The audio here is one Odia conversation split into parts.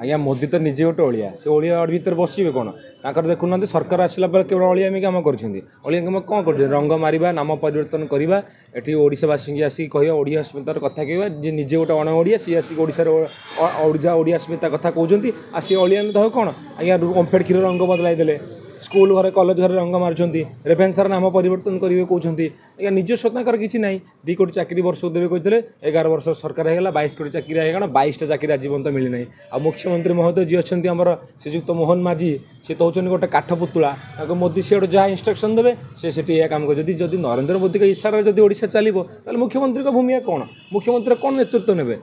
ଆଜ୍ଞା ମୋଦି ତ ନିଜେ ଗୋଟେ ଅଳିଆ, ସେ ଅଳିଆ ଭିତରେ ବସିବେ କ'ଣ? ତାଙ୍କର ଦେଖୁନାହାନ୍ତି, ସରକାର ଆସିଲା ପରେ କେବଳ ଅଳିଆମି କାମ କରିଛନ୍ତି। ଅଳିଆ କାମ କ'ଣ କରୁଛନ୍ତି? ରଙ୍ଗ ମାରିବା, ନାମ ପରିବର୍ତ୍ତନ କରିବା, ଏଠି ଓଡ଼ିଶାବାସୀଙ୍କୁ ଆସିକି କହିବା ଓଡ଼ିଆ ଅସ୍ମିତାର କଥା କହିବା। ଯିଏ ନିଜେ ଗୋଟେ ଅଣ ଓଡ଼ିଆ, ସିଏ ଆସିକି ଓଡ଼ିଶାର ଓଡ଼ିଆ ଅସ୍ମିତା କଥା କହୁଛନ୍ତି। ଆଉ ସିଏ ଅଳିଆ ତ କ'ଣ ଆଜ୍ଞା? ଓମ୍ଫେଡ଼ କ୍ଷୀର ରଙ୍ଗ ବଦଳାଇ ଦେଲେ, ସ୍କୁଲ ଘରେ କଲେଜ ଘରେ ରଙ୍ଗ ମାରୁଛନ୍ତି, ରେଭେନ୍ସାର ନାମ ପରିବର୍ତ୍ତନ କରିବେ କହୁଛନ୍ତି। ଆଜ୍ଞା ନିଜସ୍ୱ ତାଙ୍କର କିଛି ନାହିଁ। 2 କୋଟି ଚାକିରି ବର୍ଷକୁ ଦେବେ କହିଥିଲେ, 11 ବର୍ଷ ସରକାର ହେଇଗଲା, 22 କୋଟି ଚାକିରି ହେଇଗଲା, 22ଟା ଚାକିରି ଆଜି ପର୍ଯ୍ୟନ୍ତ ମିଳିନାହିଁ। ଆଉ ମୁଖ୍ୟମନ୍ତ୍ରୀ ମହୋଦୟ ଯିଏ ଅଛନ୍ତି ଆମର ଶ୍ରୀଯୁକ୍ତ ମୋହନ ମାଝୀ, ସେ ତ ହେଉଛନ୍ତି ଗୋଟେ କାଠ ପୁତୁଳା। ତାଙ୍କୁ ମୋଦି ସିଆଡ଼ୁ ଯାହା ଇନଷ୍ଟ୍ରକ୍ସନ୍ ଦେବେ, ସେ ସେଠି ଏହା କାମ କରିବେ। ଯଦି ନରେନ୍ଦ୍ର ମୋଦିଙ୍କ ଇଶାରାରେ ଯଦି ଓଡ଼ିଶା ଚାଲିବ, ତାହେଲେ ମୁଖ୍ୟମନ୍ତ୍ରୀଙ୍କ ଭୂମିକା କ'ଣ? ମୁଖ୍ୟମନ୍ତ୍ରୀ କ'ଣ ନେତୃତ୍ୱ ନେବେ?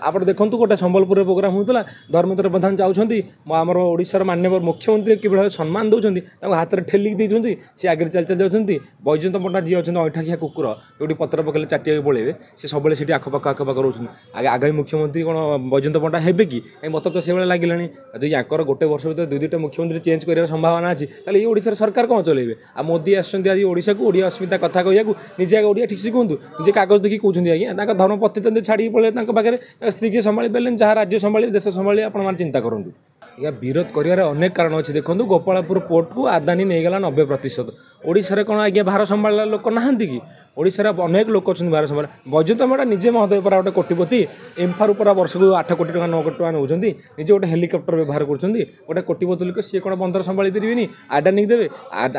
ଆପଣ ଦେଖନ୍ତୁ, ଗୋଟେ ସମ୍ବଲପୁରରେ ପ୍ରୋଗ୍ରାମ୍ ହେଉଥିଲା, ଧର୍ମେନ୍ଦ୍ର ପ୍ରଧାନ ଯାଉଛନ୍ତି, ଆମର ଓଡ଼ିଶାର ମାନ୍ୟବର ମୁଖ୍ୟମନ୍ତ୍ରୀ କିଭଳି ଭାବେ ସମ୍ମାନ ଦେଉଛନ୍ତି, ତାଙ୍କୁ ହାତରେ ଠେଲିକି ଦେଇଛନ୍ତି, ସେ ଆଗରେ ଚାଲି ଚାଲି ଯାଉଛନ୍ତି। ବୈଜୟନ୍ତ ପଣ୍ଡା ଯିଏ ଅଛନ୍ତି, ଅଇଁଠାଖିଆ କୁକୁର, ଯେଉଁଠି ପତ୍ର ପକେଇଲେ ଚାଟିବାକୁ ପଳେଇବେ, ସେ ସବୁବେଳେ ସେଠି ଆଖପାଖ ଆଖପାଖ ରହୁଛନ୍ତି। ଆଗେ ଆଗାମୀ ମୁଖ୍ୟମନ୍ତ୍ରୀ କ'ଣ ବୈଜୟନ୍ତ ପଣ୍ଡା ହେବେ କି? କାଇଁ ମୋତେ ତ ସେଇଭଳିଆ ଲାଗିଲାଣି। ଯଦି ୟାଙ୍କର ଗୋଟେ ବର୍ଷ ଭିତରେ 2 2ଟା ମୁଖ୍ୟମନ୍ତ୍ରୀ ଚେଞ୍ଜ କରିବାର ସମ୍ଭାବନା ଅଛି, ତାହେଲେ ଏଇ ଓଡ଼ିଶାର ସରକାର କ'ଣ ଚଲେଇବେ? ଆଉ ମୋଦି ଆସୁଛନ୍ତି ଆଜି ଓଡ଼ିଶାକୁ ଓଡ଼ିଆ ଅସ୍ମିତା କଥା କହିବାକୁ, ନିଜେ ଆଗ ଓଡ଼ିଆ ଠିକ୍ ସେ କୁହନ୍ତୁ। ନିଜେ କାଗଜ ଦେଖିକି କହୁଛନ୍ତି ଆଜ୍ଞା। ତାଙ୍କ ଧର୍ମପତ୍ନୀ ତ ଛାଡ଼ିକି ପଳେଇଲେ, ତାଙ୍କ ପାଖରେ ତାଙ୍କ ସ୍ତ୍ରୀକି ସମ୍ଭାଳି ପାରିଲେନି, ଯାହା ରାଜ୍ୟ ସମ୍ଭାଳିବେ, ଦେଶ ସମ୍ଭାଳିବେ, ଆପଣମାନେ ଚିନ୍ତା କରନ୍ତୁ। ଆଜ୍ଞା ବିରୋଧ କରିବାର ଅନେକ କାରଣ ଅଛି। ଦେଖନ୍ତୁ, ଗୋପାଳପୁର ପୋର୍ଟକୁ ଆଦାନୀ ନେଇଗଲା 90%। ଓଡ଼ିଶାରେ କ'ଣ ଆଜ୍ଞା ଭାର ସମ୍ଭାଳିଲା ଲୋକ ନାହାନ୍ତି କି? ଓଡ଼ିଶାରେ ଅନେକ ଲୋକ ଅଛନ୍ତି ଭାର ସମ୍ଭାଳ। ବୈଜୟନ୍ତ ପଣ୍ଡା ନିଜେ ମହୋଦୟ ପରା ଗୋଟେ କୋଟିପତି, ଏମ୍ଫାରୁ ପରା ବର୍ଷକୁ 8 କୋଟି ଟଙ୍କା 9 କୋଟି ଟଙ୍କା ନେଉଛନ୍ତି, ନିଜେ ଗୋଟେ ହେଲିକପ୍ଟର ବ୍ୟବହାର କରୁଛନ୍ତି। ଗୋଟେ କୋଟିପତି ଲୋକ, ସିଏ କ'ଣ ବନ୍ଦର ସମ୍ଭାଳି ପାରିବେନି? ଆଡାନୀକି ଦେବେ।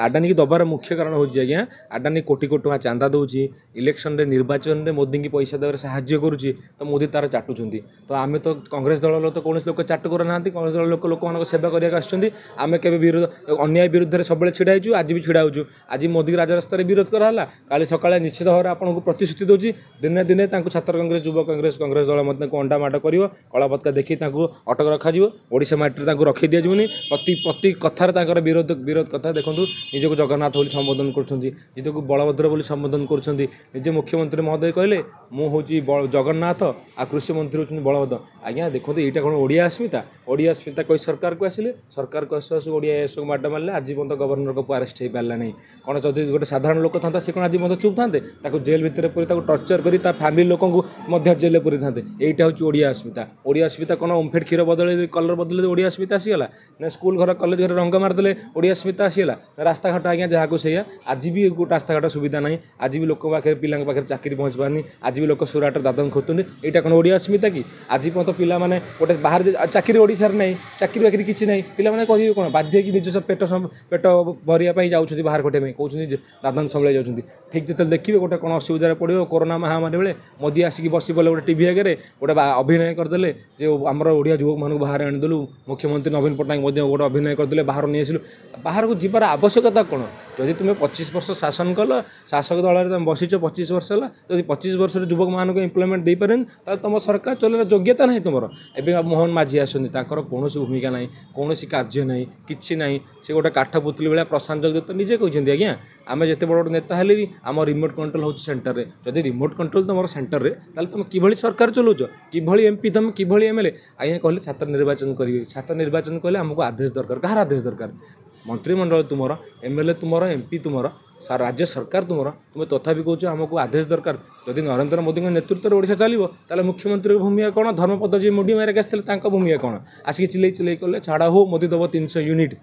ଆଡାନୀକି ଦେବାର ମୁଖ୍ୟ କାରଣ ହେଉଛି ଆଜ୍ଞା, ଆଡାନୀ କୋଟି କୋଟି ଟଙ୍କା ଚାନ୍ଦା ଦେଉଛି, ଇଲେକ୍ସନରେ ନିର୍ବାଚନରେ ମୋଦିଙ୍କୁ ପଇସା ଦେବାରେ ସାହାଯ୍ୟ କରୁଛି, ତ ମୋଦି ତାର ଚାଟୁଛନ୍ତି। ତ ଆମେ ତ କଂଗ୍ରେସ ଦଳର ତ କୌଣସି ଲୋକ ଚାଟୁକର ନାହାନ୍ତି। କଂଗ୍ରେସ ଦଳ ଲୋକ ଲୋକମାନଙ୍କ ସେବା କରିବାକୁ ଆସୁଛନ୍ତି। ଆମେ କେବେ ବିରୋଧ, ଅନ୍ୟାୟ ବିରୁଦ୍ଧରେ ସବୁବେଳେ ଛିଡ଼ା ହେଇଛୁ, ଆଜି ବି ଛିଡ଼ା ହେଉଛୁ। ଆଜି ମୋଦି ରାଜରାସ୍ତାରେ ବିରୋଧ କରାହେଲା, କାଲି ସକାଳେ ନିଶ୍ଚିତ ଭାବରେ ଆପଣଙ୍କୁ ପ୍ରତିଶ୍ରୁତି ଦେଉଛି, ଦିନେ ଦିନେ ତାଙ୍କୁ ଛାତ୍ର କଂଗ୍ରେସ, ଯୁବ କଂଗ୍ରେସ, କଂଗ୍ରେସ ଦଳ ମଧ୍ୟ ତାଙ୍କୁ ଅଣ୍ଡା ମାଡ଼ କରିବ, କଳାପତାକା ଦେଖି ତାଙ୍କୁ ଅଟକ ରଖାଯିବ, ଓଡ଼ିଶା ମାଟିରେ ତାଙ୍କୁ ରଖି ଦିଆଯିବନି। ପ୍ରତି କଥାରେ ତାଙ୍କର ବିରୋଧ କଥା ଦେଖନ୍ତୁ। ନିଜକୁ ଜଗନ୍ନାଥ ବୋଲି ସମ୍ବୋଧନ କରୁଛନ୍ତି, ନିଜକୁ ବଳଭଦ୍ର ବୋଲି ସମ୍ବୋଧନ କରୁଛନ୍ତି। ନିଜେ ମୁଖ୍ୟମନ୍ତ୍ରୀ ମହୋଦୟ କହିଲେ ମୁଁ ହେଉଛି ଜଗନ୍ନାଥ ଆଉ କୃଷି ମନ୍ତ୍ରୀ ହେଉଛନ୍ତି ବଳଭଦ୍ର। ଆଜ୍ଞା ଦେଖନ୍ତୁ, ଏଇଟା କ'ଣ ଓଡ଼ିଆ ଅସ୍ମିତା? ଓଡ଼ିଆ ଅସ୍ମିତା କହି ସରକାରକୁ ଆସିଲେ, ସରକାରକୁ ଆସୁ ଆସୁ ଓଡ଼ିଆ ଏସବୁ ମାଡ଼ ମାରିଲେ, ଆଜି ପର୍ଯ୍ୟନ୍ତ ଗଭର୍ଣ୍ଣରଙ୍କ ଆରେଷ୍ଟ ହେଇପାରିଲା ନାହିଁ। କ'ଣ ଯଦି ଗୋଟେ ସାଧାରଣ ଲୋକ ଥାନ୍ତା, ସେ କ'ଣ ଆଜି ପର୍ଯ୍ୟନ୍ତ ଚୁପ୍ ଥାନ୍ତେ? ତାକୁ ଜେଲ୍ ଭିତରେ ପୁରେଇ ତାକୁ ଟର୍ଚର କରି ତା ଫ୍ୟାମିଲି ଲୋକଙ୍କୁ ମଧ୍ୟ ଜେଲ୍ରେ ପୁରେଇଥାନ୍ତେ। ଏଇଟା ହେଉଛି ଓଡ଼ିଆ ଅସ୍ମିତା। ଓଡ଼ିଆ ଅସ୍ମିତା କ'ଣ ଓମ୍ଫେଡ଼ କ୍ଷୀର ବଦଳେଇ, କଲର୍ ବଦଳେଇ ଓଡ଼ିଆ ଅସ୍ମିତା ଆସିଗଲା ନା? ସ୍କୁଲ ଘର କଲେଜ ଘରେ ରଙ୍ଗ ମାରିଦେଲେ ଓଡ଼ିଆ ଅସ୍ମିତା ଆସିଗଲା? ରାସ୍ତାଘାଟ ଆଜ୍ଞା ଯାହାକୁ ସେଇଆ, ଆଜି ବି ରାସ୍ତାଘାଟ ସୁବିଧା ନାହିଁ, ଆଜି ବି ଲୋକଙ୍କ ପାଖରେ, ପିଲାଙ୍କ ପାଖରେ ଚାକିରି ପହଞ୍ଚି ପାରୁନି, ଆଜି ବି ଲୋକ ସୁରାଟରେ ଦାଦନ ଖଟୁଛନ୍ତି। ଏଇଟା କ'ଣ ଓଡ଼ିଆ ଅସ୍ମିତା କି? ଆଜି ପର୍ଯ୍ୟନ୍ତ ପିଲାମାନେ ଗୋଟେ ବାହାରେ ଚାକିରି ଓଡ଼ିଶାରେ ନାହିଁ, ଚାକିରି ବାକିରି କିଛି ନାହିଁ, ପିଲାମାନେ କରିବେ କ'ଣ? ବାଧ୍ୟ ହେଇକି ନିଜ ପେଟ ଭରିବା ପାଇଁ ଯାଉଛନ୍ତି ବାହାର ଖଟିବା ପାଇଁ, କହୁଛନ୍ତି ଦାଦନ ସମ୍ଭାଳି ଯାଉଛନ୍ତି। ଠିକ୍ ଯେତେବେଳେ ଦେଖିବେ ଗୋଟେ କ'ଣ ଅସୁବିଧାରେ ପଡ଼ିବ, କରୋନା ମହାମାରୀ ବେଳେ ମୋଦି ଆସିକି ବସି ପଡ଼ିଲେ ଗୋଟେ ଟିଭି ଆଗରେ, ଗୋଟେ ଅଭିନୟ କରିଦେଲେ ଯେ ଆମର ଓଡ଼ିଆ ଯୁବକମାନଙ୍କୁ ବାହାରେ ଆଣିଦେଲୁ। ମୁଖ୍ୟମନ୍ତ୍ରୀ ନବୀନ ପଟ୍ଟନାୟକ ମଧ୍ୟ ଗୋଟେ ଅଭିନୟ କରିଦେଲେ, ବାହାରୁ ନେଇ ଆସିଲୁ। ବାହାରକୁ ଯିବାର ଆବଶ୍ୟକତା କ'ଣ? ଯଦି ତୁମେ 25 ବର୍ଷ ଶାସନ କଲ, ଶାସକ ଦଳରେ ତୁମେ ବସିଛ 25 ବର୍ଷ ହେଲା, ଯଦି 25 ବର୍ଷରେ ଯୁବକମାନଙ୍କୁ ଏମ୍ପ୍ଲୟମେଣ୍ଟ ଦେଇପାରିବନି, ତାହେଲେ ତୁମ ସରକାର ଚଲେଇବାର ଯୋଗ୍ୟତା ନାହିଁ ତୁମର। ଏବେ ମୋହନ ମାଝୀ ଆସନ୍ତି, ତାଙ୍କର କୌଣସି ଭୂମିକା ନାହିଁ, କୌଣସି କାର୍ଯ୍ୟ ନାହିଁ, କିଛି ନାହିଁ, ସେ ଗୋଟେ କାଠ ପୁତୁଲି ଭଳିଆ। ପ୍ରଶାନ୍ତ ଜଗଦେବ ତ ନିଜେ କହିଛନ୍ତି, ଆଜ୍ଞା ଆମେ ଯେତେ ବଡ଼ ବଡ଼ ନେତା ହେଲେ ବି ଆମ ରିମୋଟ୍ କଣ୍ଟ୍ରୋଲ୍ ହେଉଛି ସେଣ୍ଟରରେ। ଯଦି ରିମୋଟ୍ କଣ୍ଟ୍ରୋଲ୍ ତୁମର ସେଣ୍ଟରରେ, ତାହେଲେ ତୁମେ କିଭଳି ସରକାର ଚଲାଉଛ? କିଭଳି ଏମ୍ପି ତୁମେ, କିଭଳି ଏମ୍ ଏଲ୍ ଏ? ଆଜ୍ଞା କହିଲେ ଛାତ୍ର ନିର୍ବାଚନ କରିବେ। ଛାତ୍ର ନିର୍ବାଚନ କହିଲେ ଆମକୁ ଆଦେଶ ଦରକାର। କାହାର ଆଦେଶ ଦରକାର? ମନ୍ତ୍ରିମଣ୍ଡଳ ତୁମର, ଏମ୍ ଏଲ୍ ଏ ତୁମର, ଏମ୍ ପି ତୁମର, ରାଜ୍ୟ ସରକାର ତୁମର, ତୁମେ ତଥାପି କହୁଛ ଆମକୁ ଆଦେଶ ଦରକାର। ଯଦି ନରେନ୍ଦ୍ର ମୋଦିଙ୍କ ନେତୃତ୍ୱରେ ଓଡ଼ିଶା ଚାଲିବ, ତାହେଲେ ମୁଖ୍ୟମନ୍ତ୍ରୀଙ୍କ ଭୂମିକା କ'ଣ? ଧର୍ମପଦ ଯିଏ ମୁଣ୍ଡି ମାରିକି ଆସିଥିଲେ, ତାଙ୍କ ଭୂମିକା କ'ଣ? ଆସିକି ଚିଲେଇ ଚିଲେଇ କଲେ ଛାଡ଼ ହଉ, ମୋଦି ଦେବ 300 ୟୁନିଟ୍।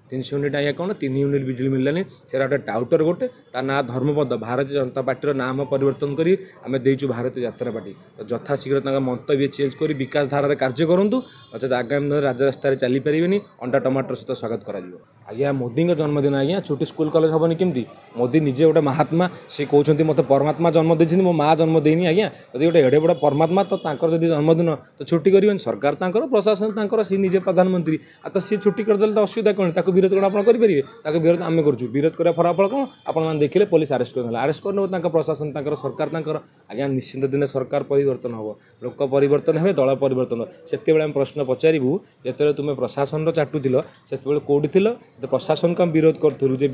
300 ୟୁନିଟ୍ ଆଜ୍ଞା କ'ଣ? 3 ୟୁନିଟ୍ ବିଜୁଳି ମିଳିଲାନି। ସେଇଟା ଗୋଟେ ଟାଉଟର ଗୋଟେ, ତା ନାଁ ଧର୍ମପଦ। ଭାରତୀୟ ଜନତା ପାର୍ଟିର ନାମ ପରିବର୍ତ୍ତନ କରି ଆମେ ଦେଇଛୁ ଭାରତୀୟ ଯାତ୍ରା ପାର୍ଟି। ତ ଯଥାଶୀଘ୍ର ତାଙ୍କ ମନ୍ତବ୍ୟ ଚେଞ୍ଜ କରି ବିକାଶ ଧାରାରେ କାର୍ଯ୍ୟ କରନ୍ତୁ, ନଚେତ ଆଗାମୀ ଦିନରେ ରାଜରାସ୍ତାରେ ଚାଲିପାରିବେନି, ଅଣ୍ଡା ଟମାଟର ସହିତ ସ୍ୱାଗତ କରାଯିବ। ଆଜ୍ଞା ମୋଦିଙ୍କ ଜନ୍ମଦିନ ଆଜ୍ଞା ଛୁଟି ସ୍କୁଲ କଲେଜ ହେବନି କେମିତି? ମୋଦି ନିଜେ ଗୋଟେ ମହାତ୍ମା, ସେ କହୁଛନ୍ତି ମୋତେ ପରମାତ୍ମା ଜନ୍ମ ଦେଇଛନ୍ତି, ମୋ ମା ଜନ୍ମ ଦେଇନି। ଆଜ୍ଞା ଯଦି ଗୋଟେ ଏଡ଼େ ବଡ଼ ପରମାତ୍ମା, ତ ତାଙ୍କର ଯଦି ଜନ୍ମଦିନ ତ ଛୁଟି କରିବେନି? ସରକାର ତାଙ୍କର, ପ୍ରଶାସନ ତାଙ୍କର, ସିଏ ନିଜେ ପ୍ରଧାନମନ୍ତ୍ରୀ, ଆଉ ତ ସିଏ ଛୁଟି କରିଦେଲେ ତ ଅସୁବିଧା କ'ଣ? ତାକୁ ବିରୋଧ କ'ଣ ଆପଣ କରିପାରିବେ? ତାକୁ ବିରୋଧ ଆମେ କରୁଛୁ। ବିରୋଧ କରିବା ଫଳାଫଳ କ'ଣ ଆପଣମାନେ ଦେଖିଲେ, ପୋଲିସ ଆରେଷ୍ଟ କରିନେଲା। ଆରେଷ୍ଟ କରିନେବ, ତାଙ୍କ ପ୍ରଶାସନ ତାଙ୍କର, ସରକାର ତାଙ୍କର। ଆଜ୍ଞା ନିଶ୍ଚିନ୍ତ ଦିନେ ସରକାର ପରିବର୍ତ୍ତନ ହେବ, ଲୋକ ପରିବର୍ତ୍ତନ ହେବେ, ଦଳ ପରିବର୍ତ୍ତନ ହେବ। ସେତେବେଳେ ଆମେ ପ୍ରଶ୍ନ ପଚାରିବୁ, ଯେତେବେଳେ ତୁମେ ପ୍ରଶାସନର ଚାଟୁଥିଲ ସେତେବେଳେ କେଉଁଠି ଥିଲ? ପ୍ରଶାସନକୁ ଆମେ ବିରୋଧ କରୁଥିଲୁ ଯେ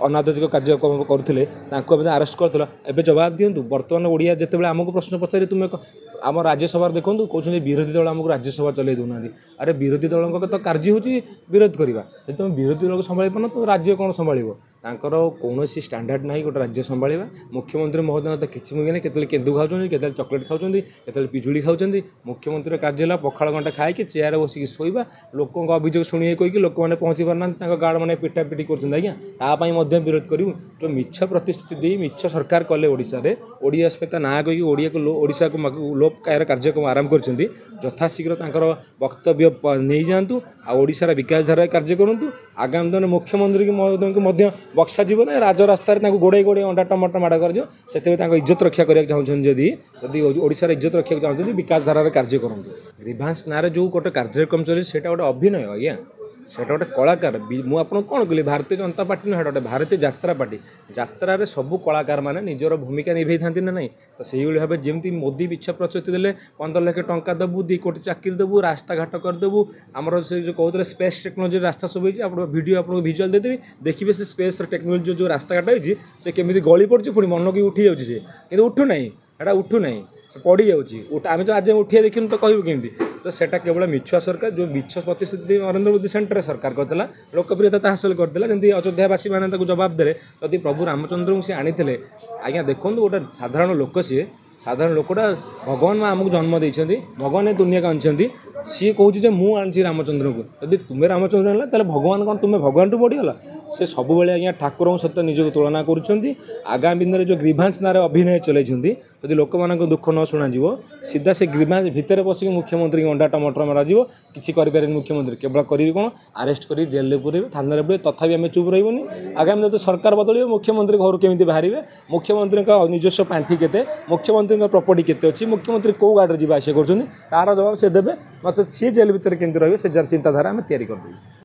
ଅନାଦରିକ କାର୍ଯ୍ୟକ୍ରମ କରୁଥିଲେ, ତାଙ୍କୁ ଆମେ ଆରେଷ୍ଟ କରିଥିଲ। ଏବେ ଜବାବ ଦିଅନ୍ତୁ। ବର୍ତ୍ତମାନ ଓଡ଼ିଆ ଯେତେବେଳେ ଆମକୁ ପ୍ରଶ୍ନ ପଚାରି, ତୁମେ ଆମ ରାଜ୍ୟସଭାରେ ଦେଖନ୍ତୁ, କହୁଛନ୍ତି ବିରୋଧୀ ଦଳ ଆମକୁ ରାଜ୍ୟସଭା ଚଲେଇ ଦେଉନାହାନ୍ତି। ଆରେ ବିରୋଧୀ ଦଳଙ୍କ ତ କାର୍ଯ୍ୟ ହେଉଛି ବିରୋଧ କରିବା। ଯଦି ତୁମେ ବିରୋଧୀ ଦଳକୁ ସମ୍ଭାଳି ପାରୁନ, ତୁମେ ରାଜ୍ୟ କ'ଣ ସମ୍ଭାଳିବ? ତାଙ୍କର କୌଣସି ଷ୍ଟାଣ୍ଡାର୍ଡ଼ ନାହିଁ ଗୋଟେ ରାଜ୍ୟ ସମ୍ଭାଳିବା। ମୁଖ୍ୟମନ୍ତ୍ରୀ ମହୋଦୟଙ୍କ ତ କିଛି ମୁଖ୍ୟ ନାହିଁ, କେତେବେଳେ କେନ୍ଦୁ ଖାଉଛନ୍ତି, କେତେବେଳେ ଚକୋଲେଟ୍ ଖାଉଛନ୍ତି, କେତେବେଳେ ପିଜୁଳି ଖାଉଛନ୍ତି। ମୁଖ୍ୟମନ୍ତ୍ରୀର କାର୍ଯ୍ୟ ହେଲା ପଖାଳ ଘଣ୍ଟା ଖାଇକି ଚେୟାରରେ ବସିକି ଶୋଇବା, ଲୋକଙ୍କ ଅଭିଯୋଗ ଶୁଣିବେ କହିକି ଲୋକମାନେ ପହଞ୍ଚି ପାରୁନାହାନ୍ତି, ତାଙ୍କ ଗାର୍ଡ଼ ମାନେ ପିଟା ପିଟି କରୁଛନ୍ତି ଆଜ୍ଞା। ତା ପାଇଁ ମଧ୍ୟ ବିରୋଧ କରିବୁ। ଯେଉଁ ମିଛ ପ୍ରତିଶ୍ରୁତି ଦେଇ ମିଛ ସରକାର କଲେ ଓଡ଼ିଶାରେ, ଓଡ଼ିଆ ଅସ୍ମିତା ନାଁ କହିକି ଓଡ଼ିଆକୁ ଓଡ଼ିଶାକୁ ଲୋପ ପାଇବାର କାର୍ଯ୍ୟକ୍ରମ ଆରମ୍ଭ କରିଛନ୍ତି। ଯଥାଶୀଘ୍ର ତାଙ୍କର ବକ୍ତବ୍ୟ ନେଇଯାଆନ୍ତୁ ଆଉ ଓଡ଼ିଶାର ବିକାଶ ଧାରାରେ କାର୍ଯ୍ୟ କରନ୍ତୁ। ଆଗାମୀ ଦିନରେ ମୁଖ୍ୟମନ୍ତ୍ରୀ ମହୋଦୟଙ୍କୁ ମଧ୍ୟ ବକ୍ସାଯିବ ନା, ରାଜରାସ୍ତାରେ ତାଙ୍କୁ ଗୋଡ଼େଇ ଗୋଡ଼େଇ ଅଣ୍ଡା ଟମାଟୋ ମାଡ଼ କରାଯିବ। ସେଥିପାଇଁ ତାଙ୍କ ଇଜ୍ଜତ ରକ୍ଷା କରିବାକୁ ଚାହୁଁଛନ୍ତି, ଯଦି ଯଦି ଓଡ଼ିଶାର ଇଜ୍ଜତ ରଖିବାକୁ ଚାହୁଁଛନ୍ତି, ବିକାଶ ଧାରାରେ କାର୍ଯ୍ୟ କରନ୍ତୁ। ଗ୍ରିଭାନ୍ସ ନାଁରେ ଯେଉଁ ଗୋଟେ କାର୍ଯ୍ୟକ୍ରମ ଚାଲିଛି ସେଇଟା ଗୋଟେ ଅଭିନୟ ଆଜ୍ଞା, ସେଇଟା ଗୋଟେ କଳାକାର। ମୁଁ ଆପଣଙ୍କୁ କ'ଣ କହିଲି, ଭାରତୀୟ ଜନତା ପାର୍ଟି ନୁହେଁ, ସେଇଟା ଗୋଟେ ଭାରତୀୟ ଯାତ୍ରା ପାର୍ଟି। ଯାତ୍ରାରେ ସବୁ କଳାକାରମାନେ ନିଜର ଭୂମିକା ନିଭେଇଥାନ୍ତି ନା ନାହିଁ? ତ ସେଇଭଳି ଭାବେ ଯେମିତି ମୋଦି ମିଛ ପ୍ରତିଶ୍ରୁତି ଦେଲେ, 15 ଲକ୍ଷ ଟଙ୍କା ଦେବୁ, 2 କୋଟି ଚାକିରି ଦେବୁ, ରାସ୍ତାଘାଟ କରିଦେବୁ, ଆମର ସେ ଯେଉଁ କହୁଥିଲେ ସ୍ପେସ୍ ଟେକ୍ନୋଲୋଜି ରାସ୍ତା ସବୁ ହେଇଛି। ଆପଣ ଭିଡ଼ିଓ ଆପଣଙ୍କୁ ଭିଜୁଆଲ୍ ଦେଇଦେବି, ଦେଖିବେ ସେ ସ୍ପେସ୍ର ଟେକ୍ନୋଲୋଜି ଯେଉଁ ରାସ୍ତାଘାଟ ହେଇଛି ସେ କେମିତି ଗଳି ପଡ଼ୁଛି, ପୁଣି ମନକୁ ଉଠି ଯାଉଛି ସେ, କିନ୍ତୁ ଉଠୁନାହିଁ, ଏଇଟା ଉଠୁନାହିଁ, ସେ ପଡ଼ିଯାଉଛି। ଆମେ ତ ଆଜି ଉଠିବା ଦେଖିନୁ, ତ କହିବୁ କେମିତି? ତ ସେଇଟା କେବଳ ମିଛୁଆ ସରକାର। ଯେଉଁ ମିଛ ପ୍ରତିଶ୍ରୁତି ନରେନ୍ଦ୍ର ମୋଦି ସେଣ୍ଟରରେ ସରକାର କରିଥିଲା, ଲୋକପ୍ରିୟତା ହାସଲ କରିଥିଲା, ଯେମିତି ଅଯୋଧ୍ୟାବାସୀମାନେ ତାକୁ ଜବାବ ଦେଲେ। ଯଦି ପ୍ରଭୁ ରାମଚନ୍ଦ୍ରଙ୍କୁ ସେ ଆଣିଥିଲେ ଆଜ୍ଞା, ଦେଖନ୍ତୁ ଗୋଟେ ସାଧାରଣ ଲୋକ, ସିଏ ସାଧାରଣ ଲୋକଟା, ଭଗବାନ ଆମକୁ ଜନ୍ମ ଦେଇଛନ୍ତି, ଭଗବାନ ଏ ଦୁନିଆକୁ ଆଣିଛନ୍ତି। ସିଏ କହୁଛି ଯେ ମୁଁ ଆଣିଛି ରାମଚନ୍ଦ୍ରଙ୍କୁ। ଯଦି ତୁମେ ରାମଚନ୍ଦ୍ର ଆଣିଲ, ତାହେଲେ ଭଗବାନ କ'ଣ ତୁମେ ଭଗବାନଠୁ ବଢ଼ିଗଲ? ସେ ସବୁବେଳେ ଆଜ୍ଞା ଠାକୁରଙ୍କ ସହିତ ନିଜକୁ ତୁଳନା କରୁଛନ୍ତି। ଆଗାମୀ ଦିନରେ ଯେଉଁ ଗ୍ରିଭାନ୍ସ ନାଁରେ ଅଭିନୟ ଚଲାଇଛନ୍ତି, ଯଦି ଲୋକମାନଙ୍କ ଦୁଃଖ ନ ଶୁଣାଯିବ, ସିଧା ସେ ଗ୍ରିଭାନ୍ସ ଭିତରେ ପଶିକି ମୁଖ୍ୟମନ୍ତ୍ରୀଙ୍କୁ ଅଣ୍ଡା ଟମାଟର ମରାଯିବ। କିଛି କରିପାରିବେନି ମୁଖ୍ୟମନ୍ତ୍ରୀ। କେବଳ କରିବେ କ'ଣ? ଆରେଷ୍ଟ କରି ଜେଲରେ ପୁରେଇବେ, ଥାନାରେ ପୁରେଇବେ। ତଥାପି ଆମେ ଚୁପ୍ ରହିବୁନି। ଆଗାମୀ ଦିନରେ ସରକାର ବଦଳିବ, ମୁଖ୍ୟମନ୍ତ୍ରୀ ଘରୁ କେମିତି ବାହାରିବେ, ମୁଖ୍ୟମନ୍ତ୍ରୀଙ୍କ ନିଜସ୍ୱ ପାଣ୍ଠି କେତେ, ମୁଖ୍ୟମନ୍ତ୍ରୀଙ୍କ ପ୍ରପର୍ଟି କେତେ ଅଛି, ମୁଖ୍ୟମନ୍ତ୍ରୀ କେଉଁ ଗାଡ଼ିରେ ଯିବା ଆସିବା କରୁଛନ୍ତି, ତାର ଜବାବ ସେ ଦେବେ। ନଚେତ୍ ସିଏ ଜେଲ୍ ଭିତରେ କେମିତି ରହିବେ ସେ ଚିନ୍ତାଧାରା ଆମେ ତିଆରି କରିଦେବୁ।